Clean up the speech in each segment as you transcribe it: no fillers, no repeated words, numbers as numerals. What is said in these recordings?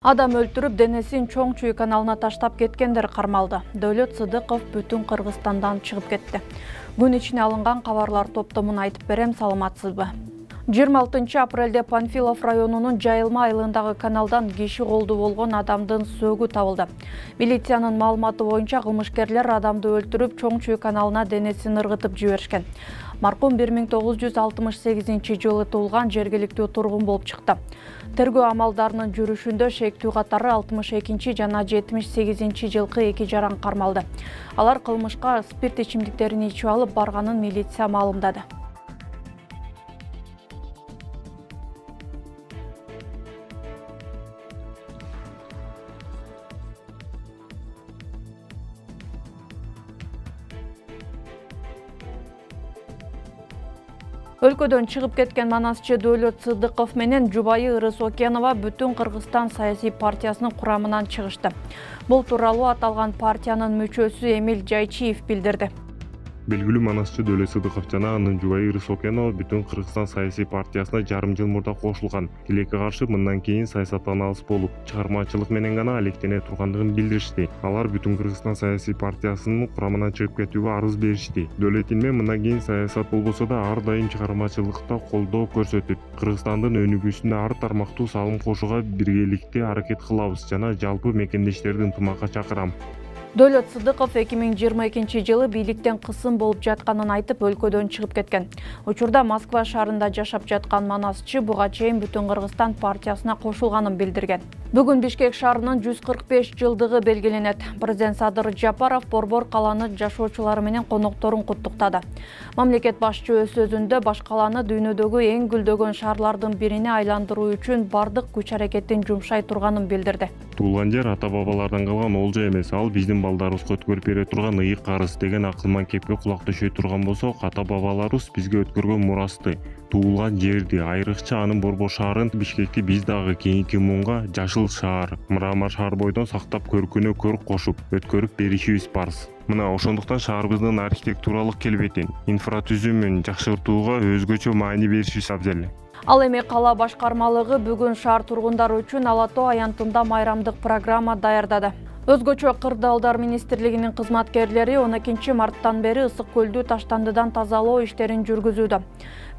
Адам өлтүрүп, денесин Чоң Чүй каналына таштап кеткендер кармалды. Дөөлөт Сыдыков бүтүн Кыргызстандан чыгып кетти. Күн ичине алынган кабарлар топтомун айтып берем, саламатсызбы? 26 апрелде Панфилов районунун Жайылма айылындагы каналдан киши колду болгон адамдын сөөгү табылды. Милициянын маалыматы боюнча кылмышкерлер адамды өлтүрүп, Чоң Чүй каналына денесин ыргытып жиберишкен. Маркум 1968 жылы туулган жергиликтүү тургун болуп чыкты. Тергөө амалдарынын жүрүшүндө шектүү катары 62 жана 78 жылкы 2 жаран кармалды. Алар кылмышка спирт ичимдиктерин ичип алып барганын милиция маалымдады. Өлкөдөн чыгып кеткен манасчы Дөөлөт Сыдыков менен жубайы Ырыс Окенова бүтүн Кыргызстан саясий партиясынын курамынан чыгышты. Бул тууралуу аталган партиянын мүчөсү Эмил Жайчиев билдирди. Белгилүү манасчы Дөөлөт Сыдыков жана анын жубайы Ырыс Окенова бүтүн Кыргызстан саясий партиясына жарым жыл мурда кошулган. Тилекке каршы мындан кийин саясаттан алыс болуп, чыгармачылык менен гана алектене тургандыгын билдиришти. Алар бүтүн Кыргызстан саясий партиясынын курамынан чыгып кетүүгө арыз беришти. Дөөлөт Илме мындан кийин саясат болбосо да ар дайым чыгармачылыкта колдоо көрсөтүп, Кыргызстандын өнүгүүсүнө ар тармактуу салым кошууга биргеликте аракет кылабыз жана жалпы мекендештерди ынтымакка чакырам. Дөөлөт Сыдыков 2022 жылы бийликтен кысым болуп жатканын айтып, өлкөдөн чыгып кеткен. Учурда Москва шаарында жашап жаткан манасчы буга чейин бүтүн Кыргызстан партиясына кошулганын билдирген. Бүгүн Бишкек шаарынын 145 жылдыгы белгиленет. Президент Садыр Жапаров Борбор каланы жашоочулары менен конокторун куттуктады. Мамлекет башчы өз сөзүндө баш каланы дүйнөдөгү эң гүлдөгөн шаарлардын бирине айландыруу үчүн бардык күч-аракетин жумшай турганын билдирди. Туулган жер ата-бабалардан калган олжо эмес, ал биздин балдарыбызга өткөрүп бере турган ыйык карыз деген акылман кепке кулак төшөй турган болсок, ата-бабаларыбыз бизге өткөргөн мурасты, туулган жерди, айрыкча анын Борбор шаарын, Бишкекти биз дагы кийинки муунга жашыл шаар, Мрамор шаар бойдон сактап көркүнө көрк кошуп, өткөрүп беришибиз парыз. Мына ошондуктан шаарыбыздын архитектуралык келбетин, инфратүзүмүн жакшыртууга өзгөчө маани беришибиз абзел. Ал эми кала башкармалыгы бүгүн шаар тургундары үчүн Ала Тоо аянтында майрамдык программа даярдады. Өзгөчө Кырдаалдар министрлигинин кызматкерлери 12 марттан бери Ысык көлдү таштандыдан тазалоо иштерин жүргүзүүдө.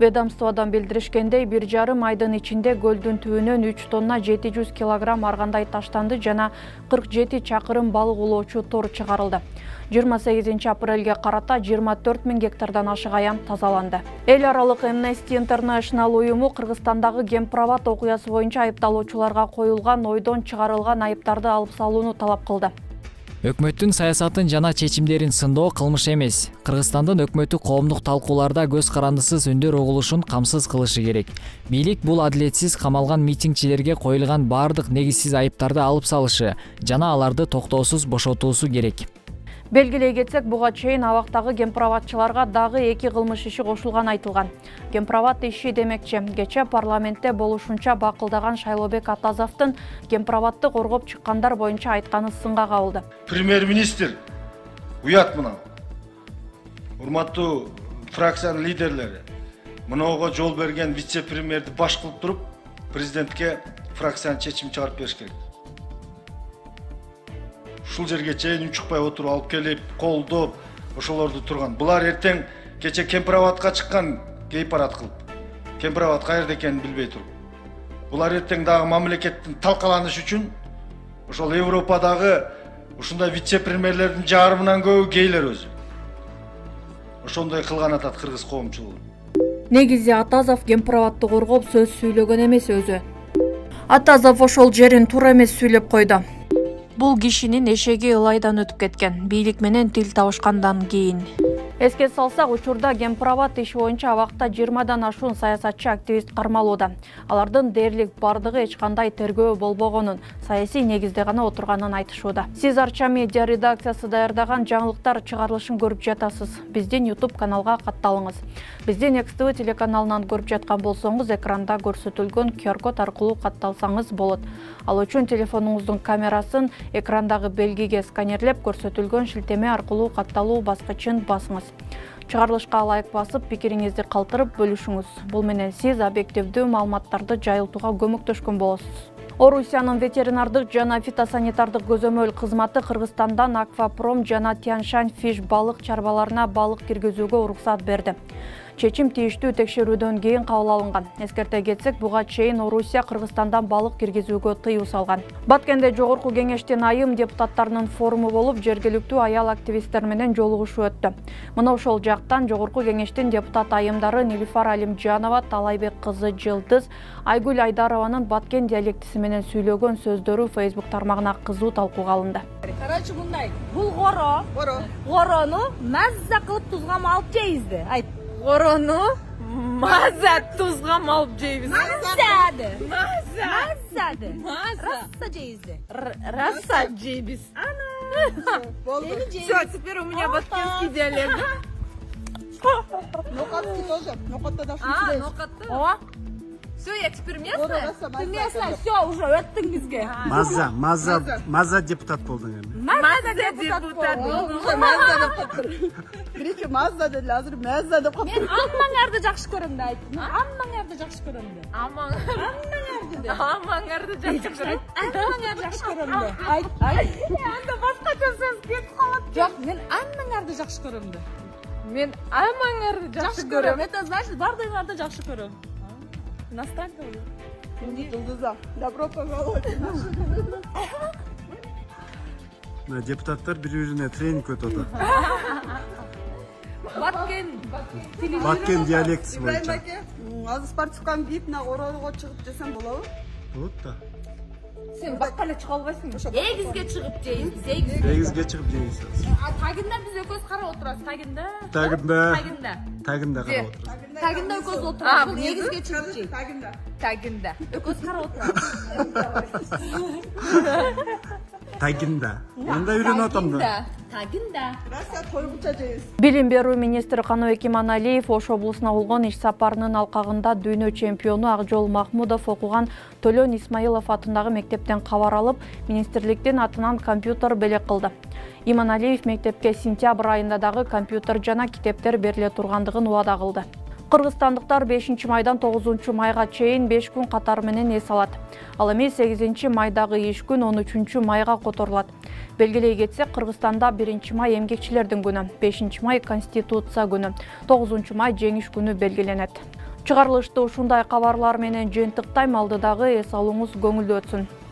Ведомстводон билдиришкендей, 1,5 айдын ичинде көлдүн түбүнөн 3 тонна 700 килограмм аргандай таштанды жана 47 чакырым балык улоочу тор чыгарылды. 28 апрелге карата 24 000 гектардан ашык аян тазаланды. Эл аралык Amnesty International уюму Кыргызстандагы Кемпирабад окуясы боюнча айыпталуучуларга коюлган ойдон чыгарылган айыптарды алып салууну талап кылды. Өкмөттүн саясатын жана чечимдерин сындоо кылмыш эмес. Кыргызстандын өкмөтү коомдук талкууларда көз карандысыз үндөр угулушун камсыз кылышы керек. Бийлик бул адилетсиз камалган митингчилерге коюлган бардык негизсиз айыптарды алып салышы жана аларды токтоосуз бошотуусу керек. Белгилей кетсек, буга чейин абактагы кемпирабадчыларга дагы 2 кылмыш иши кошулган айтылган. Кемпирабад иши демекчи, кече парламентте болушунча бакылдаган Шайлообек Атазовдун Кемпирабадды коргоп чыккандар боюнча айтканы сынга кабылды. Премьер-министр уят мына. Урматтуу фракциянын лидерлери, мынага жол берген вице-премьерди баш кылып туруп, президентке фракциянын чечим чыгарып бериш керек. Ушул жерге чейин учукпай отуруп алып келип, колдоп, ошолорду турган. Булар эртең кече Кемпирабадка чыккан гей-парад кылып, Кемпирабад каерде экенин билбей туруп. Булар эртең дагы мамлекеттин талкаланыш үчүн ошол Европадагы ушундай вице-премьерлердин жарымынан көбү гейлер өзү. Ошондой кылган атат кыргыз коомчулугу. Негизи Атазов Кемпирабадды коргоп сөз сүйлөгөн эмес өзү. Атазов ошол жерин туура эмес сүйлөп койду. Бул кишинин эшеги ылайдан өтүп кеткен. Бийлик менен тил табышкандан кийин. Эске салсак, учурда Кемпирабад иши боюнча абакта 20дан ашуун саясатчы активист кармалууда. Алардын дээрлик бардыгы эч кандай тергөө болбогонун, саясий негизде гана отурганын айтышууда. Сиз Арча медиа редакциясы даярдаган жаңылыктар чыгарылышын көрүп жатасыз. Биздин YouTube каналга катталыңыз. Биздин XTV телеканалынан көрүп жаткан болсоңуз, экранда көрсөтүлгөн QR код аркылуу катталсаңыз болот. Ал үчүн телефонуңуздун камерасын экрандагы белгиге сканерлеп, көрсөтүлгөн шилтеме аркылуу катталуу баскычын басыңыз. Чыгарылышка лайк басып, пикириңизди калтырып бөлүшүңүз. Бул менен сиз объективдүү маалыматтарды жайылтууга көмөктөшкөн болосуз. Орусиянын ветеринардык жана фитосанитардык көзөмөл кызматы Кыргызстандан Аквапром жана Тяньшань Fish балык чарбаларына балык киргизүүгө уруксат берди. Чечим тийиштүү текшерүүдөн кийин кабыл алынган. Эскерте кетсек, буга чейин Орусия Кыргызстандан балык киргизүүгө тыюу салган. Баткенде жогорку кеңештин айым депутаттарынын форуму болуп, жергиликтүү аял активисттер менен жолугушуу өттү. Мына ошол жактан жогорку кеңештин депутат айымдары Нилифар Алимжанова, Талайбек кызы Жылдыз, Айгүл Айдарованын Баткен диалектиси менен сүйлөгөн сөздөрү Facebook тармагына кызуу талкууга алынды. Короче, мындай. Бул горону мазза кылып тузга малып жейбизди. Айт. Горону маза тузга малып жейбиз. Мазза Раса жейбизди. Раса жейбиз. Все, теперь у меня баткенский диалект. Нокатский тоже. Нокатта да О, все, я теперь местная? Ты местная, все, уже өттүң бизге. Маза депутат болдуң эми. Маза депутат болдум. Биринчи мазда деди, азыр мазда деп калып. Мен аммаңарды жакшы көрөм да айт. Аммаңарды жакшы көрөм да. Аммаңарды жакшы көрөм. Аммаңарды жакшы көрөм да. Айт. Анда башкача сөз кетип калат. Жок, мен аммаңарды жакшы көрөм да. Мен аммаңарды жакшы көрөм. Это значит, бардыгыңарды жакшы көрөм. Иностранка Инди Жылдыза. Добро пожаловать. Депутаттар бири-бирине тренинг өтөт. Баткен диалектиси Ибраим боюнча. аке, азыр спортивканы кийип, мына оролго чыгып жесем болобу? Болот да. Сен бакка эле чыга албайсыңбы? Эгизге чыгып жейбиз. Эгизге чыгып жейсиз. Тагында биз экөөбүз карап отурабыз. Тагында карап отурабыз. Тагында экөөбүз отурабыз. Бул эгизге чыгып жейбиз. Тагында. Экөөбүз карап отурабыз. Тагында. Мен да үйрөнүп атам да. Тагында. Раса койгуча жейбиз. Билим берүү министри Каныбек Иманалиев Ош облусуна болгон иш сапарынын алкагында дүйнө чемпиону Акжол Махмудов окуган Төлөн Исмаилов атындагы мектептен кабар алып, министрликтин атынан компьютер белек кылды. Иманалиев мектепке сентябрь айында дагы компьютер жана китептер бериле тургандыгын убада кылды. Кыргызстандыктар 5-майдан 9-майга чейин 5 күн катары менен эс алат. Ал эми 8-майдагы иш күн 13-майга которулат. Белгилей кетсек, Кыргызстанда 1-май эмгекчилердин күнү, 5-май Конституция күнү, 9-май жеңиш күнү белгиленет. Чыгарылышты ушундай кабарлар менен жыйынтыктайм, алдыдагы эс алууңуз көңүлдүү өтсүн.